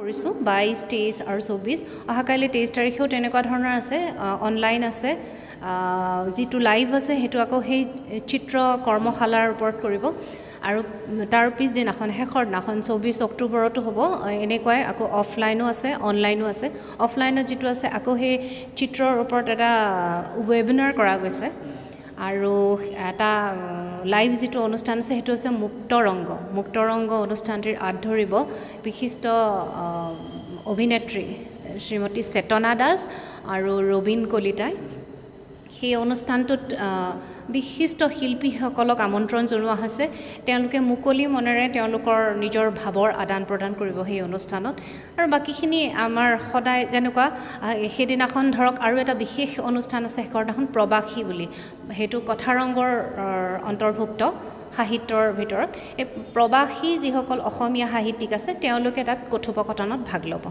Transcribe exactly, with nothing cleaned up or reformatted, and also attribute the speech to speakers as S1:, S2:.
S1: কৰিছোঁ বাইছ তেইছ আৰু চৌবিছ অহাকাইলৈ তেইছ তাৰিখেও তেনেকুৱা ধৰণৰ আছে অনলাইন আছে যিটো লাইভ আছে সেইটো আকৌ সেই চিত্ৰ কৰ্মশালাৰ ওপৰত কৰিব আৰু তাৰ পিছদিনাখন শেষৰ দিনাখন চৌবিছ অক্টোবৰতো হ'ব এনেকুৱাই আকৌ অফলাইনো আছে অনলাইনো আছে অফলাইনত যিটো আছে আকৌ সেই চিত্ৰৰ ওপৰত এটা ৱেবিনাৰ কৰা গৈছে আৰু এটা লাইভ যিটো অনুষ্ঠান আছে সেইটো হৈছে মুক্ত ৰংগ মুক্ত ৰংগ অনুষ্ঠানটিৰ আঁত ধৰিব বিশিষ্ট অভিনেত্ৰী শ্ৰীমতী চেতনা দাস আৰু ৰবীন কলিতাই সেই অনুষ্ঠানটোত বিশিষ্ট শিল্পীসকলক আমন্ত্ৰণ জনোৱা হৈছে তেওঁলোকে মুকলি মনেৰে তেওঁলোকৰ নিজৰ ভাৱৰ আদান প্ৰদান কৰিব সেই অনুষ্ঠানত আৰু বাকীখিনি আমাৰ সদায় যেনেকুৱা সেইদিনাখন ধৰক আৰু এটা বিশেষ অনুষ্ঠান আছে শেষৰ দিনাখন প্ৰৱাসী বুলি সেইটো কথাৰংগৰ অন্তৰ্ভুক্ত সাহিত্যৰ ভিতৰত এই প্ৰৱাসী যিসকল অসমীয়া সাহিত্যিক আছে তেওঁলোকে তাত কথোপকথনত ভাগ ল'ব।